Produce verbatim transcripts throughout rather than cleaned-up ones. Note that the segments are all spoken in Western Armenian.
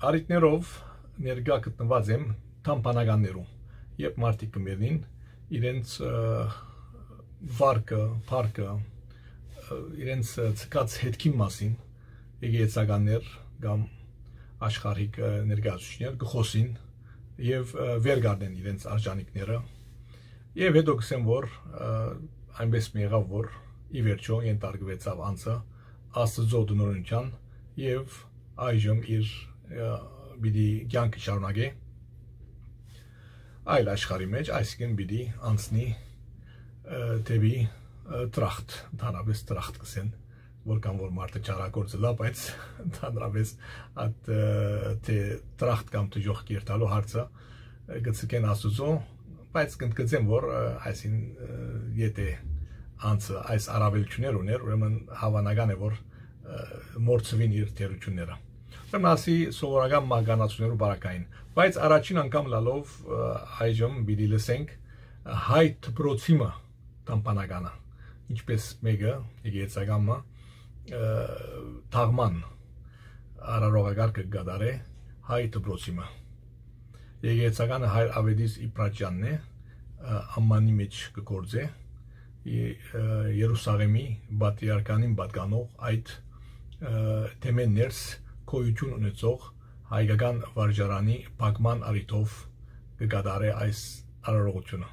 Առիթներով ներկայ գտնուած եմ Թամբանականներու, երբ մարդիկ կը մեռնին, իրենց, ը, վարկը, փառքը, ը, իրենց, ը, ցկած հետքին մասին եկեղեցականներ կամ աշխարհիկ, ը, ներկայացուցիչներ կը խօսին եւ, ը, վեր կ'առնեն իրենց արժանիքները։ Եւ հետո կ'ըսեմ, որ, ը, այնպէս մը եղաւ, որ ի վերջոյ ենթարկուեցաւ անձը Աստուծոյ տնօրինութեան եւ այժմ իր, ը, պիտի կեանքը շարունակէ այլ աշխարհի մէջ, այսինքն պիտի անցնի, ը, դէպի, ը, Տրախտ, ընդհանրապէս Տրախտ կ'ըսեն, որքան որ մարդը չարագործ ըլլայ, բայց ընդհանրապէս այդ, ը, թէ Տրախտ կամ դժոխք երթալու հարցը, ը, կը ցկեն Աստուծոյ, բայց կ'ընդգծեմ, որ, ը, այսին, ը, եթէ անձը այս առաւելութիւններ ունէր, ուրեմն հաւանական է, որ, ը, մոռցուին իր թերությունները։ Ուրեմն ասի սովորական մահկանացուներու բարակային, բայց առաջին անգամ լալով, ը, այժմ պիտի լսենք հայ դպրոցի մը Թամբանականը, ինչպես մէկը, եկեղեցական մը, ը, թաղման արարողակարգը կը կատարէ հայ դպրոցի մը։ Եկեղեցականը հայր Ավետիս Իբրաճյանն է, ը, ամմանի մէջ կը գործէ, ե-, ը, Երուսաղէմի պատրիարքանին պատկանող այդ, ը, թեմէն ներս գոյութիւն ունեցող հայկական վարժարանի փակման առիթով կը կատարէ այս արարողութիւնը։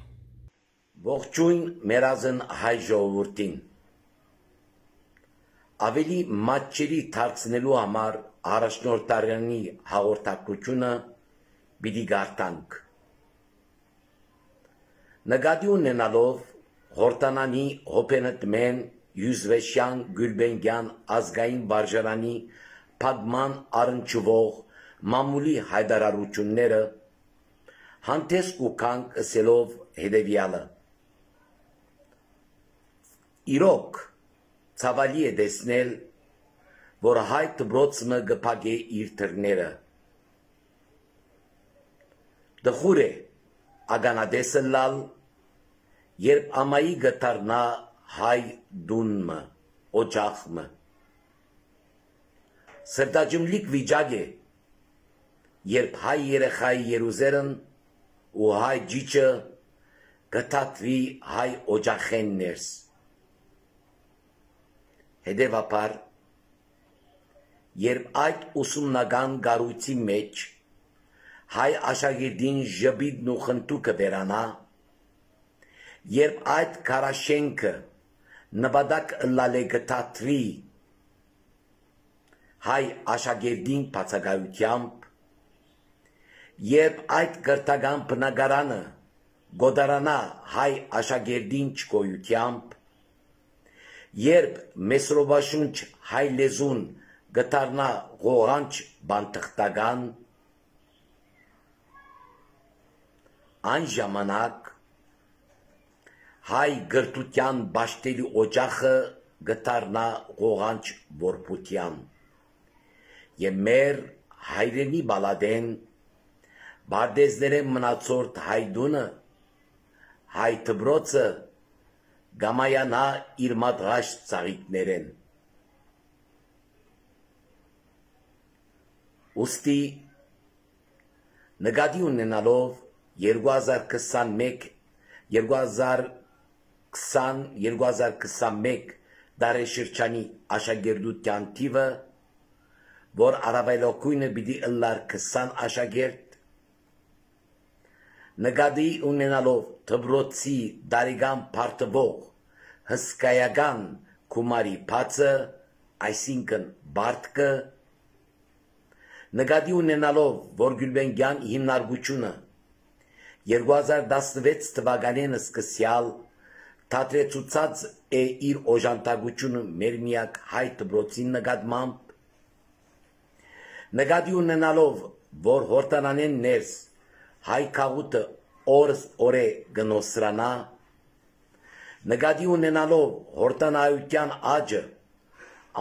Ողջոյն մեռազն հայ ժողովուրդին։ Աւելի մատչելի դարձնելու համար առաջնորդարանի հաղորդակցութիւնը պիտի կարդանք։ Նկատի ունենալով Յորդանանի Հոբենտմեն Յուզվեշյան Գիւլբենկեան ազգային վարժարանի փակման առնչուող մամուլի յայտարարութիւնները, հանդէս կու գանք ըսելով հետեւեալը. Իրոք, ցաւալի է տեսնել, որ հայ դպրոց մը կը փակէ իր դռները։ Տխուր է ականատես ըլլալ, երբ ամայի կը դառնայ հայ տուն մը, օջախ մը։ Սրտաճմլիկ վիճակ է, երբ հայ երեխայի երուզերն ու հայ ճիճը կը թաթուի հայ օջախէն ներս։ Հետեւաբար, երբ այդ ուսումնական կառոյցի մէջ հայ աշակերտին ժպիտն ու խնդուկը վերանայ, երբ այդ քարաշենքը նպատակ ըլլալէ կը թաթուի հայ աշակերտին բացակայութեամբ, երբ այդ կրթական բնակարանը կ'օտարանայ հայ աշակերտին չկոյութեամբ, երբ մեսրոբաշունչ հայ լեզուն կը դառնայ ղողանջ բանթղթական, այն ժամանակ հայ կրթութեան պաշտելի օջախը կը դառնայ ղողանջ որբութեան, եւ մեր հայրենի պալատէն, պարտեզներէն մնացորդ հայ տունը, հայ դպրոցը կ'ամայանայ իր մատղաշ ծաղիկներէն։ Ուստի, նկատի ունենալով երկու հազար քսանմէկ, երկու հազար քսան, երկու հազար քսանմէկ տարեշրջանի աշակերտութեան թիւը, որ առաւելագոյնը պիտի ըլլար քսան աշակերտ, նկատի ունենալով դպրոցի տարեկան պարտուող հսկայական գումարի բացը, այսինքն պարտքը, նկատի ունենալով, որ Գիւլբենկեան հիմնարկութիւնը երկու հազար տասնվեց թուականէն սկսեալ թատրեցուցած է իր օժանդակութիւնը մեր միակ հայ դպրոցին նկատմամբ, նկատի ունենալով, որ Յորդանանէն ներս հայ գաղութը օրս օրէ կը նոսրանայ, նկատի ունենալով Յորդանայութեան աճը,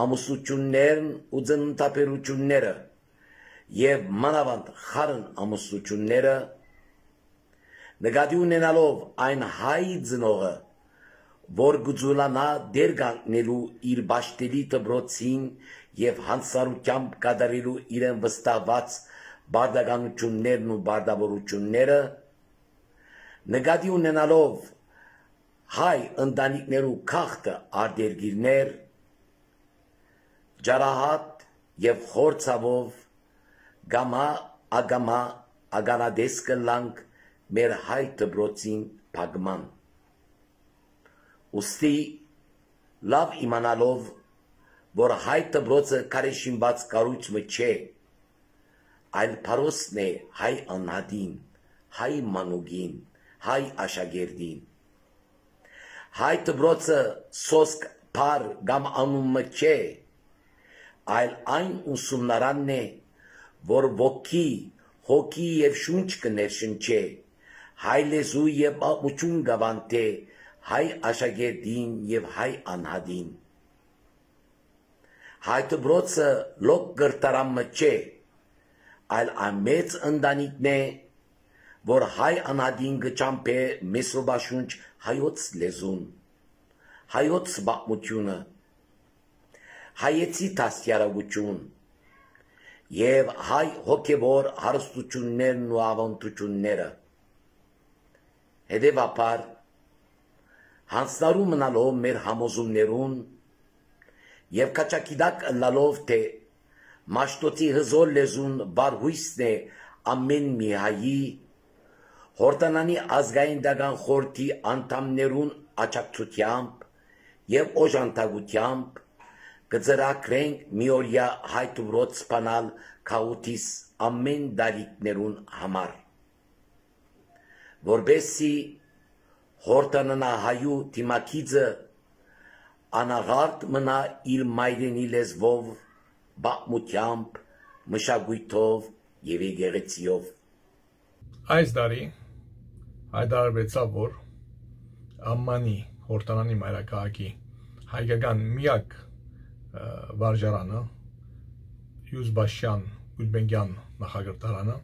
ամուսնութիւններն ու ծննդաբերութիւնները եւ մանաւանդ խառն ամուսնութիւնները, նկատի ունենալով այն հայ ծնողը, որ կը ձուլանայ դեր կանգնելու իր պաշտելի դպրոցին եւ յանցարութեամբ կատարելու իրեն վստահուած պարտականութիւններն ու պարտաւորութիւնները, նկատի ունենալով հայ ընտանիքներու գաղթը արտերկիրներ, ճարահատ եւ խոր ցաւով կամա ակամա ականատես կ'ըլլանք մեր հայ դպրոցին փակման։ Ուստի, լաւ իմանալով, որ հայ դպրոցը քարէշինուած կառոյց մը չէ, այլ փարոսն է հայ անհատին, հայ մանուկին, հայ աշակերտին։ Հայ դպրոցը սոսկ, բառ կամ անուն մը չէ, այլ այն ուսումնարանն է, որ ոգի, հոգի եւ շունչ կը ներշնչէ, հայ լեզու եւ պատմութիւն կ'աւանդէ հայ աշակերտին եւ հայ անհատին։ Հայ դպրոցը լոկ կրթարան մը չէ, այլ այն մեծ ընտանիքն է, որ հայ անհատին կը ճամբէ մեսրոպաշունչ հայոց լեզուն, հայոց պատմութիւնը, հայեցի դաստիարակութիւն եւ հայ հոգեւոր հարստութիւններն ու աւանդութիւնները։ Հետեւաբար, յանձնառու մնալով մեր համոզումներուն եւ քաջագիտակ ըլլալով, թէ Մաշտոցի հզօր լեզուն վառ հոյսն է ամէն մի հայի, Յորդանանի ազգային դական խորհրդի անդամներուն աջակցութեամբ եւ օժանդակութեամբ կը ծրագրենք միօրեայ հայ դպրոց բանալ գաղութիս ամէն տարիքներուն համար, որպեսզի Յորդանանահայու դիմագիծը անաղարտ մնայ իր մայրենի լեզուով, պատմութեամբ, մշակոյթով եւ եկեղեցիով։ Այս տարի հայտարարուեցաւ, որ Ամմանի, Յորդանանի մայրաքաղաքի հայկական միակ, ը, վարժարանը, Յուզբաշյան Գուլբենկյան նախակրթարանը,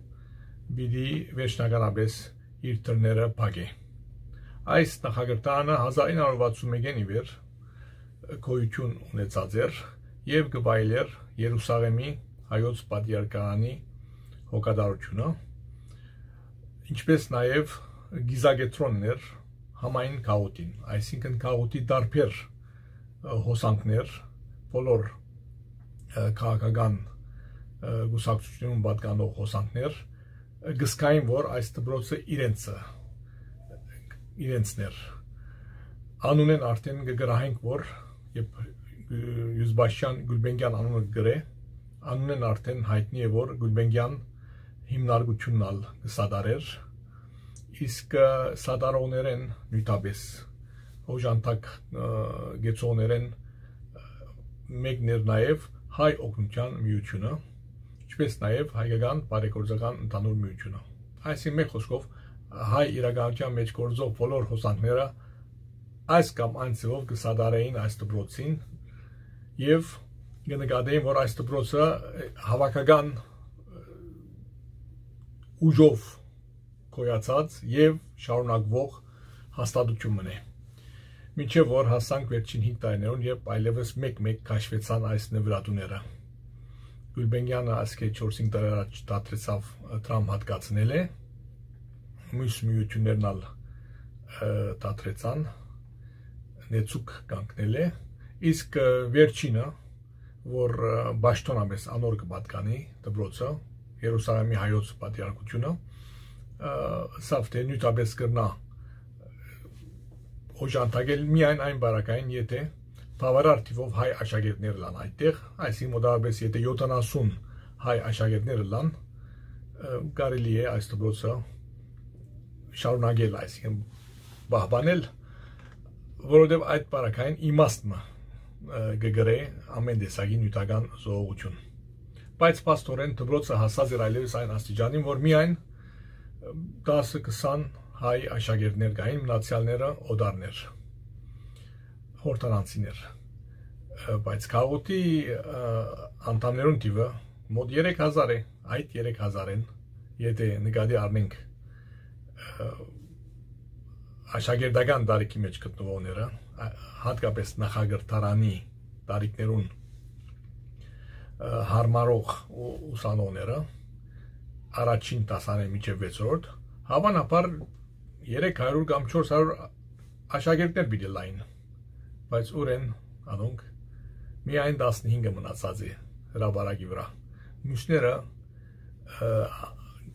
պիտի վերջնականապես իր դռները փակէ։ Այս նախակրթարանը հազար ինը հարյուր վաթսուն մէկէն ի վեր գոյութիւն ունեցած էր եւ կը վայելէր Երուսաղէմի հայոց պատրիարքարանի հոգատարությունը, ինչպէս նաեւ կիզակեդրոններ համային գաղութին, այսինքն գաղութի տարբեր, ը, հոսանքներ, բոլոր, ը, քաղաքական, ը, կուսակցութիւններուն պատկանող հոսանքներ, ը, կը զգային, որ այս դպրոցը իրենցը, իրենցն էր։ Անունէն արդէն կը գրահենք, որ երբ, ը, Յուզբաշյան Գուլբենկյան անունը կը գրէ, անունէն արդէն յայտնի է, որ Գուլբենկյան հիմնարկութիւնն ալ կը սատարէր, իսկ, ը, սատարողներէն նիւթապէս, օժանդակ, ը, կեցողներէն, ը, մեկն էր նաեւ Հայ օգնութեան միութիւնը, ինչպէս նաեւ Հայկական բարեգործական ընդհանուր միութիւնը։ Այսինքն, մէկ խօսքով, հայ իրականութեան մէջ գործող բոլոր հոսանքները այս կամ այն ձեւով կը սատարէին այս դպրոցին եւ կը նկատէին, որ այս դպրոցը, ը, հաւաքական, ը, ուժով գոյացած եւ շարունակվող հաստատութիւն մըն է։ Մինչեւ որ հասանք վերջին հինգ տարիներուն, երբ այլեւս մէկ-մէկ քաշուեցան այս նվիրատուները։ Գուլբենկյանը ասկէ չորս-հինգ տարի առաջ դադրեցաւ, ը, դրամ հատկացնել է, միւս միութիւններն ալ, ը, դադրեցան, նեցուկ կանգնել է, իսկ, ը, վերջինը, որ, ը, պաշտօնապէս անոր կը պատկանի դպրոցը, Երուսաղէմի հայոց պատրիարքութիւնը, ը, սա թէ նիւթապէս կրնայ օժանդակել միայն այն պարագային, եթէ բաւարար թիւով հայ աշակերտներ ըլլան այդտեղ, այսինքն մոտավորապես եթէ յոթանասուն հայ աշակերտներ ըլլան, ը, կարելի է այս դպրոցը շարունակել, այսինքն պահպանել, որովհետեւ այդ պարագային իմաստ մը, ը, կը կրէ ամէն տեսակի նիւթական զոհողութիւն։ Բայց փաստօրէն դպրոցը հասած էր այլեւս այն աստիճանին, որ միայն, ը, տասը քսան հայ աշակերտներ կային, մնացեալները օտարներ, յորդանանցիներ։ Ը, բայց գաղութի, ը, անդամներուն թիւը մոտ երեք հազար է, այդ երեք հազարէն, եթէ նկատի առնենք, ը, աշակերտական տարիքի մէջ գտնուողները, ա, հատկապես նախակրթարանի տարիքներուն, ը, յարմարող ու ուսանողները, առաջին դասարանէն մինչեւ վեցերորդ, հաւանաբար երեք հարիւր կամ չորս հարիւր աշակերտներ պիտի լային, բայց ուրեն անոնք միայն տասնհինգը մնացած է հրապարակի վրա։ Միւսները, ը,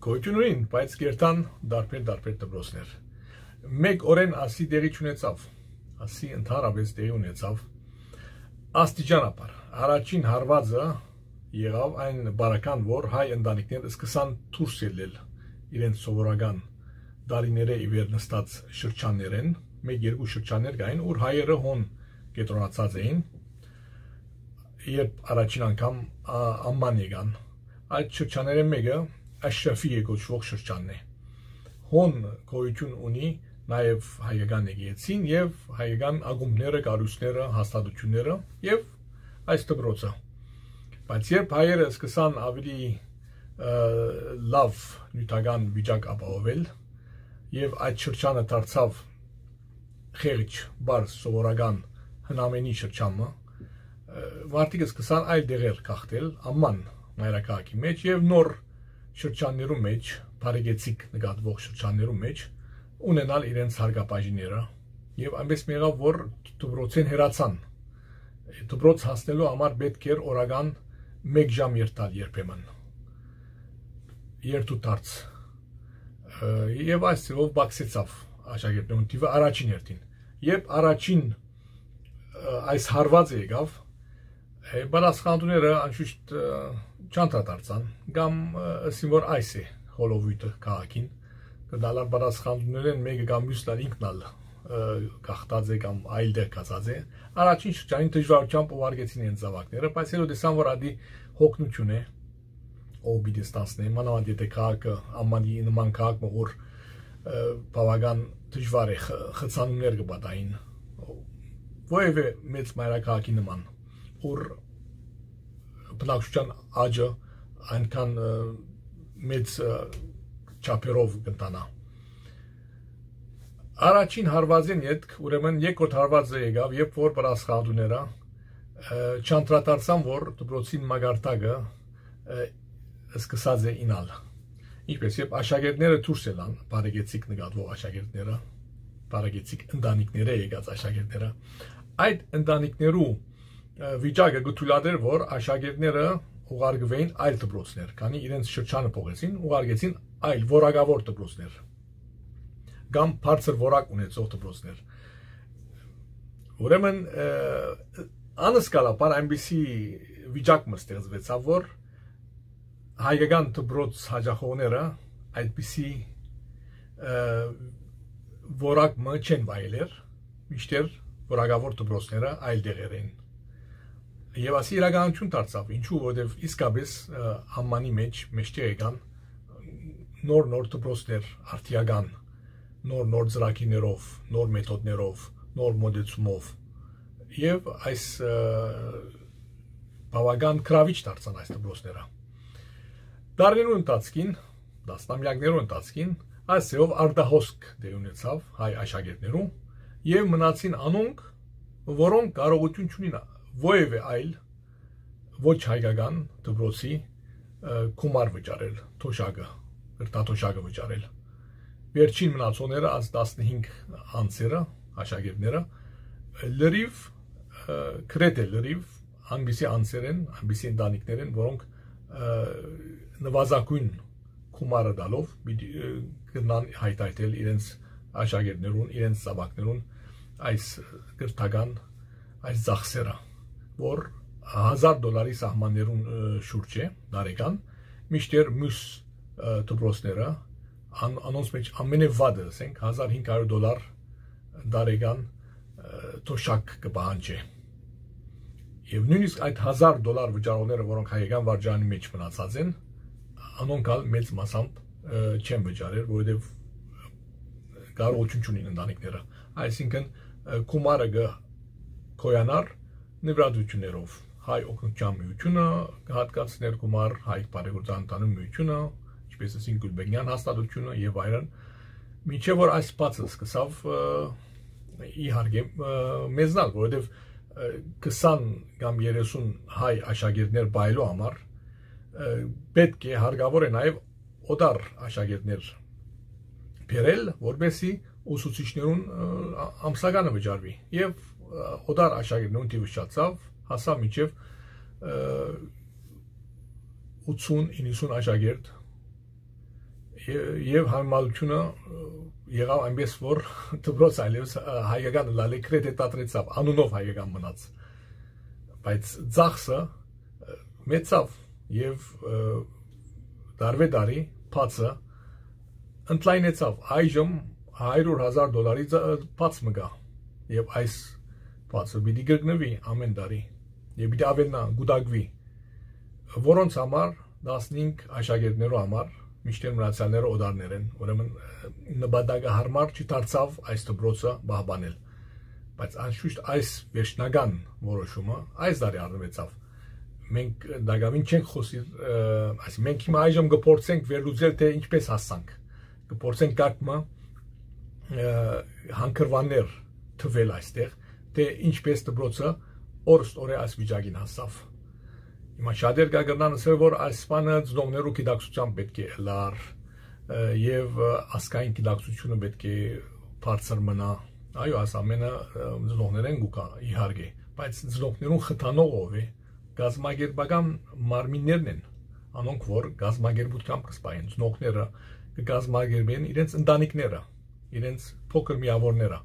գոյութիւն ունին, բայց կերտան տարբեր-տարբեր դպրոցներ։ Մէկ օրէն ասի տեղի չունեցաւ, ասի ընդհանրապէս տեղի ունեցաւ աստիճանաբար։ Առաջին հարուածը եղաւ այն պարագան, որ հայ ընտանիքներ սկսան դուրս ելլել իրենց սովորական տարիներէ ի վեր նստած շրջաններէն, մէկ-երկու շրջաններ կային, ուր հայերը հոն կեդրոնացած էին, երբ առաջին անգամ, ա, Ամման եկան։ Այդ շրջաններէն մէկը Աշրաֆիե կոչուող շրջանն է։ Հոն գոյութիւն ունի նաեւ հայկական եկեղեցին եւ հայկական ակումբները, կառոյցները, հաստատութիւնները եւ այս դպրոցը։ Բայց երբ հայերը սկսան ավելի, ը, լաւ նիւթական վիճակ ապահովել եւ այդ շրջանը դարձաւ խեղճ, պարզ, սովորական հնամենի շրջանը, ը, մարդիկ սկսան այլ դեղեր գաղթել, Ամման մայրաքաղաքի մէջ եւ նոր շրջաններու մէջ, բարեկեցիկ նկատուող շրջաններու մէջ ունենալ իրենց հարկաբաժինները եւ այնպես մի եղաւ, որ դպրոցէն հեռացան։ Դպրոց հասնելու համար պէտք էր օրական մէկ ժամ երթալ երբեմն, երթու դարձ։ Ը, եւ այս ձեւով բացեցաւ աշակերտներուն թիւը առաջին հերթին։ Երբ առաջին, ը, այս հարուածը եկաւ, ը, պատասխանատուները անշուշտ, ը, չանդրադարձան, կամ, ը, ըսին, որ այս է հոլովոյթը քաղաքին, կը դալար պատասխանատուներէն մէկը կամ միւսն ալ ինքն ալ, ը, գաղթած է կամ այլ տեղ գացած է։ Առաջին շրջանին դժուարութեամբ ուղարկեցին իրենց զաւակները, բայց հետո տեսան, որ ադի հոգնութիւն է, ով պիտի ստանցնէ, մանաւանդ եթե քաղաքը, Ամմանի նման քաղաք մը, ուր, ը, բաւական դժուար է, խ-, խցանումներ կը պատահին, որեւէ մեծ մայրաքաղաքի նման, ուր բնակչության աճը այնքան, ը, մեծ, ը, չափերով կ'ընթանայ։ Առաջին հարուածին ետք, ուրեմն երկրորդ հարուածը եկաւ, երբ որ պատասխանատուները, ը, չանդրադարձան, որ դպրոցին մակարդակը, ը, սկսած է ինալ։ Ինչպես երբ աշակերտները դուրս ելան, բարեկեցիկ նկատուող աշակերտները, բարեկեցիկ ընտանիքները եկած աշակերտները, այդ ընտանիքներու, ը, վիճակը կը թույլատրէր, որ աշակերտները ուղարկուէին այլ դպրոցներ, քանի իրենց շրջանը փոխեցին, ուղարկեցին այլ որակավոր դպրոցներ կամ բարձր որակ ունեցող դպրոցներ։ Ուրեմն, ը, անսկալաբար այնպիսի վիճակ մը ստեղծուեցաւ, որ հայկական դպրոց հաճախողները այդպիսի, ը, որակ մը չեն վայելեր, մինչդեռ որակավոր դպրոցները այլ տեղեր են։ Եւ ասի իրականություն դարձաւ, ինչու, որովհետեւ իսկապես, ը, Ամմանի մէջ, մէջտեղ եկան նոր-նոր դպրոցներ, արդիական, նոր-նոր ծրագիրներով, նոր մեթոդներով, նոր մոտեցումով։ Եւ այս, ը, բաւական գրաւիչ դարձան այս դպրոցները։ Դարերու ընթացքին, տասնամեակներու ընթացքին, այս ձեւով արտահոսք տեղի ունեցաւ հայ աշակերտներու եւ մնացին անոնք, որոնք կարողութիւն չունին որեւէ այլ ոչ հայկական դպրոցի, ը, գումար վճարել, թոշակը, կրթաթոշակը վճարել։ Վերջին մնացողները, այս տասնհինգ անձերը, աշակերտները, լրիվ, ը, գրեթէ լրիվ, այնպիսի անձեր են, այնպիսի ընտանիքներ են, որոնք, ը, նվազագույն գումարը տալով պիտի, ը, կրնան հայթայթել իրենց աշակերտներուն, իրենց զաւակներուն այս կրթական, այս ծախսերը, որ հազար դոլարի սահմաններուն, ը, շուրջ է տարեկան, մինչդեռ մյուս, ը, դպրոցները, ան-, անոնց մէջ ամենեվատը, ասենք, հազար հինգ հարիւր դոլար տարեկան, ը, թոշակ կը պահանջէ։ Եւ նոյնիսկ այդ հազար դոլար վճարողները, որոնք հայկական վարժարանի մէջ մնացած են, անոնք ալ մեծ մասամբ, ը, չեն վճարեր, որովհետեւ կարողություն չունին ընտանիքները։ Այսինքն, ը, գումարը կը գոյանար նվիրատվություններով։ Հայ օգնության միությունը կը հատկացներ գումար, հայ բարեգործական ընտանիք միությունը, ինչպես ասին Գուլբենյան հաստատությունը եւ այլն, մինչեւ որ այս բացը սկսավ, ը, իհարկե, ը, մեզնալ, որովհետեւ, ը, քսան կամ երեսուն հայ աշակերտներ պահելու համար, ը, պէտք է, հարկաւոր է նաեւ օտար աշակերտներ բերել, որպեսզի ուսուցիչներուն, ը, ա-, ամսականը վճարուի։ Եւ, ը, օտար աշակերտներուն թիւը շատացաւ, հասաւ մինչեւ, ը, ութսուն, իննսուն աշակերտ, ե-, եւ յարմարությունը, ը, եղաւ այնպես, որ դպրոց այլեւս, ը, հայկական ըլլալը գրեթէ դադրեցաւ, անունով հայկական մնաց։ Բայց ծախսը, ը, մեծաւ եւ, ը, տարվե տարի բացը ընդլայնեցաւ։ Այժմ հարիւր հազար դոլարի ձ-, բաց մը կայ։ Եւ այս բացը պիտի կրկնուի ամէն տարի։ Եւ պիտի աւելնայ, կուտակուի։ Որոնց համար, տասնհինգ աշակերտներու համար, մինչդեռ մնացեալները օտարներ են, ուրեմն, ը, նպատակահարմար չդարձաւ այս դպրոցը պահպանել։ Բայց անշուշտ այս վերջնական որոշումը այս տարի առնուեցաւ։ Մենք տակաւին չենք խօսիր, ը, այսինքն մենք հիմա այժմ կփորձենք վերլուծել, թէ ինչպես հասանք։ Կփորձենք կարգ մը, ը, հանգրուաններ թուել այստեղ, թէ ինչպես դպրոցը օրստորե այս վիճակին հասաւ։ Հիմա շատեր կա կրնան ասել, որ այս բանը ծնողներու գիտակցութեան պէտք է ըլլար, ը, եւ, ը, ազգային գիտակցութիւնը պէտք է բարձր մնայ։ Այո, այս ամէնը, ը, ծնողներէն կու գայ, իհարկե, բայց ծնողներուն խթանող ով է, կազմակերպական մարմիններն են, անոնք որ կազմակերպութեամբ կը սպայեն, ծնողները կը կազմակերպեն իրենց ընտանիքները, իրենց փոքր միաւորները,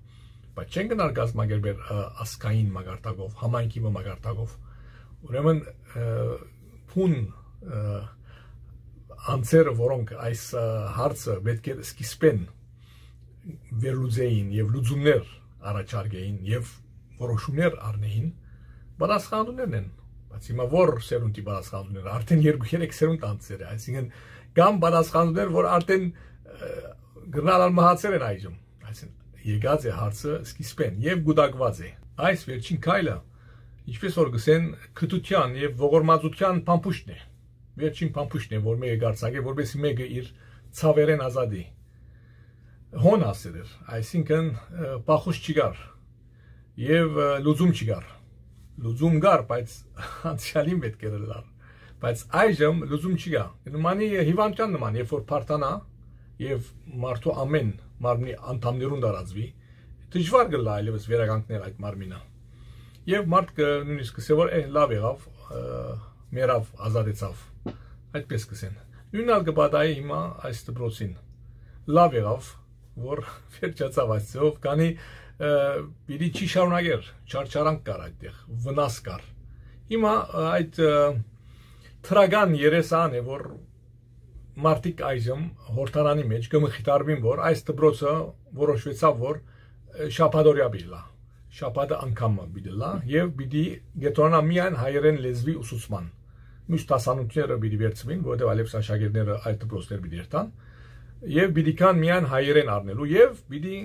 բայց չեն գնար կազմակերպել, ը, ազգային մակարդակով, համայնքի մը մակարդակով։ Ուրեմն, ը, բուն, ը, անձերը, որոնք այս, ը, հարցը պէտք է սկիզբէն վերլուծեին եւ լուծումներ առաջարկեին եւ որոշումներ առնեին, պատասխանատուներն են։ Բայց հիմա ո՞ր սերունդի պատասխանատուները, արդեն երկու երեք սերունդ անցեր է, այսինքն կան պատասխանատուներ, որ արդեն, ը, կրնան ալ մահացել են այժմ։ Այսինքն եկած է հարցը սկիզբէն եւ կուտակուած է։ Այս վերջին քայլը, ինչպես որ կսեն, քթութեան եւ ողորմածութեան փամփուշտն է։ Վերջին փամփուշտն է, որ մեկը կարձակէ, որպեսզի մեկը իր ցաւերէն ազատի։ Հոն հասեր էր, այսինքն, ը, փախուստ չկար եւ, ը, լուծում չկար։ Լուծում կար, բայց անցեալին պէտք էր ըլլար։ Բայց այժմ լուծում չկայ։ Նմանի հիւանդութեան նման, երբ որ բարդանայ եւ մարդու ամէն մարմնի անդամներուն տարածուի, դժուար կ'ըլլայ այլեւս վերականգնել այդ մարմինը։ Եւ մարդ կը, նոյնիսկ կ'ըսէ, որ, «Է, լաւ եղաւ, ը, մեռաւ, ազատեցաւ»։ Այդպես կ'ըսեն։ Նոյնն ալ կը պատահի հիմա այս դպրոցին։ Լաւ եղաւ, որ վերջացաւ այս ձեւով, քանի, ը, պիտի չի շարունակեր, չարչարանք կար այդտեղ, վնաս կար։ Հիմա, ը, այդ, ը, դրական երեսը ան է, որ մարդիկ այժմ Յորդանանի մէջ կը մխիթարուին, որ այս դպրոցը որոշուեցաւ, որ, ը, շաբաթօրեայ պիտի ըլլայ, շաբաթը անգամ մը պիտի ըլլայ եւ պիտի կեդրոնայ միայն հայերէն լեզուի ուսուցման։ Մյուս դասանութիւնները պիտի վերցուին, որովհետեւ այլեւս աշակերտները այլ դպրոցներ պիտի երթան եւ պիտի գան միայն հայերէն առնելու եւ պիտի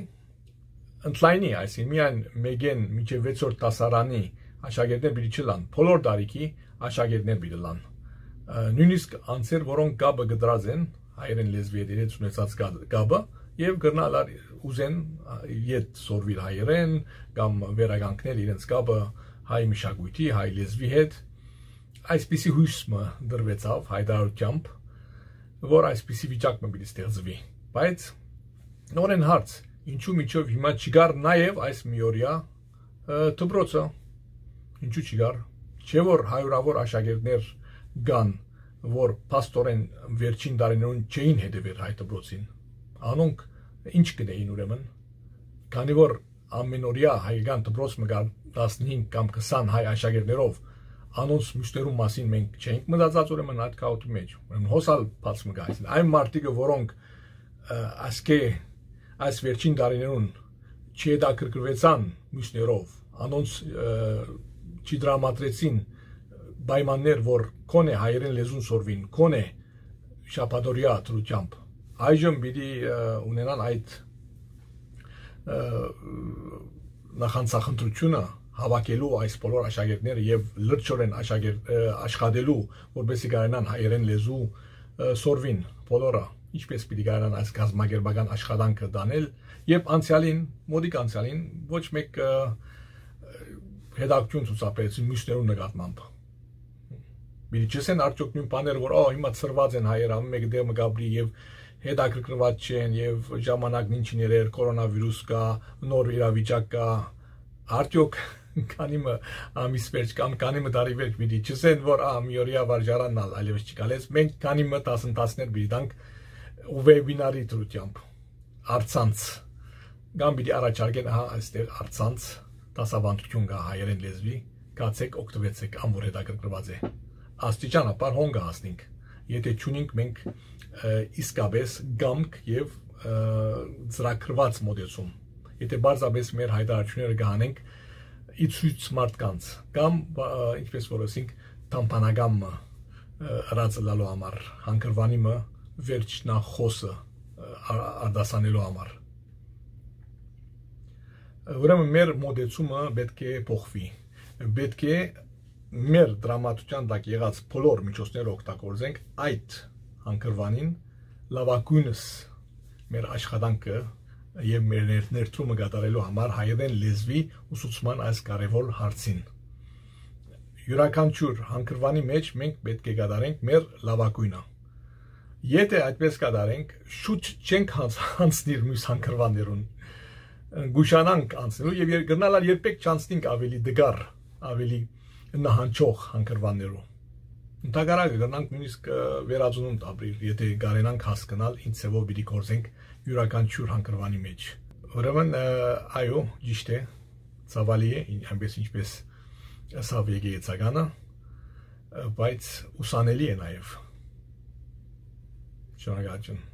ընդլայնի, այսինքն միայն մէկէն մինչեւ վեցորդ դասարանի աշակերտներ պիտի չըլլան, բոլոր տարիքի աշակերտներ պիտի ըլլան։ Ը, նոյնիսկ անձեր, որոնք կապը կտրած են հայերէն լեզուի հետ, իրենց ունեցած կա-, կապը, եւ կրնան ալ ուզեն, ա, ետ սորվիլ հայերէն կամ վերականգնել իրենց կապը հայ մշակոյթի, հայ լեզուի հետ։ Այսպիսի յոյս մը դրուեցաւ հայտարարութեամբ, որ այսպիսի վիճակ մը պիտի ստեղծուի։ Բայց նորեն հարց, ինչու միջով հիմա չկար նաեւ այս միօրյա, ը, դպրոցը, ինչու չկար։ Չէ՞ որ հարիւրաւոր աշակերտներ կան, որ փաստորեն վերջին տարիներուն չէին հետեւեր հայ դպրոցին։ Անոնք ինչ կ'ընէին ուրեմն, քանի որ ամենօրյա հայկական դպրոց մը կար տասնհինգ կամ քսան հայ աշակերտներով, անոնց մյուսներուն մասին մենք չէինք մտածած, ուրեմն, այդ քաոթի մէջ։ Ուրեմն հոս ալ բաց մը կայ, այսինքն այն մարդիկը, որոնք, ը, ասկէ այս վերջին տարիներուն չհետաքրքրուեցան մյուսներով, անոնց, ը, չդրամատրեցին պայմաններ, որ քոնէ հայերէն լեզուն սորվին, քոնէ շաբաթօրեայ դրությամբ։ Այժմ պիտի, ը, ունենան այդ, ը, նախանձախնդրութիւնը, հավաքելու այս բոլոր աշակերտները եւ լրջորեն աշակերտ, ը, աշխատելու, որպեսզի կարենան հայերէն լեզու, ը, սորվին բոլորը, ինչպես պիտի կարենան այս կազմակերպական աշխատանքը տանել, երբ անցեալին, մօտիկ անցեալին ոչ մէկ, ը, հետաքրքրութիւն ցուցաբերեցին մյուսներուն նկատմամբ։ Պիտի չըսեն արդյոք նոյն բաները, որ ա, հիմա ցրուած են հայեր, ամէն մէկը դէմը կապրի եւ հետաքրքրուած չեն, եւ ժամանակն ինչ ներեր, կորոնավիրուս կայ, նոր իրավիճակ կայ, արդյոք քանի մը ամիս վերջ կամ քանի մը տարի վերջ պիտի չըսեն, որ ա, մի օրեայ վարժարանն ալ այլեւս չկայ։ Մենք քանի մը դասընթացներ պիտի տանք ու վեբինարի դրությամբ, առցանց, կամ պիտի առաջարկեն, ահա, այստեղ առցանց դասավանդութիւն կայ հայերէն լեզուի, գացէք, օգտուեցէք, ան որ հետաքրքրուած է։ Աստիճանաբար հոն կը հասնենք, եթե չունենք մենք, ը, իսկապես կամք եւ, ը, ծրագրուած մոտեցում, եթե պարզապես մեր հայտարարութիւնները կը հանենք ի ցոյց մարդկանց, կամ, ը, ինչպես որ ասենք, թամբանական մը, ը, ըրած ըլալու համար, հանգրուանի մը վերջնախօսը, ը, ա-, արտասանելու համար։ Ուրեմն մեր մոտեցումը պէտք է փոխուի։ Պէտք է մեր դրամատուրգիան տակ եղած բոլոր միջոցները օգտագործենք այդ հանգրուանին լաւագոյնս մեր աշխատանքը եւ մեր ներ-, ներդրումը կատարելու համար հայերէն լեզուի ուսուցման այս կարեւոր հարցին։ Իւրաքանչիւր հանգրուանի մէջ մենք պէտք է կատարենք մեր լաւագոյնը։ Եթե այդպես կատարենք, շուտ չենք յանց-, յանցնիր միւս հանգրուաններուն։ Գուշանանք անցնելու եւ եր-, կրնալ ալ երբեք չանցնենք ավելի դգար, ավելի նահանջող հանգրուաններու։ Ընդհակառակը կրնանք նոյնիսկ, ը, վերածնունդ ապրիլ, եթե կարենանք հասկնալ ինչ ձեւով պիտի գործենք իւրաքանչիւր հանգրուանի մէջ։ Ուրեմն, ը, այո, ճիշտ է, ցաւալի է, ին-, այնպես ինչպես ըսաւ եկեղեցականը, ը, բայց ուսանելի է նաեւ։ Շնորհակալություն։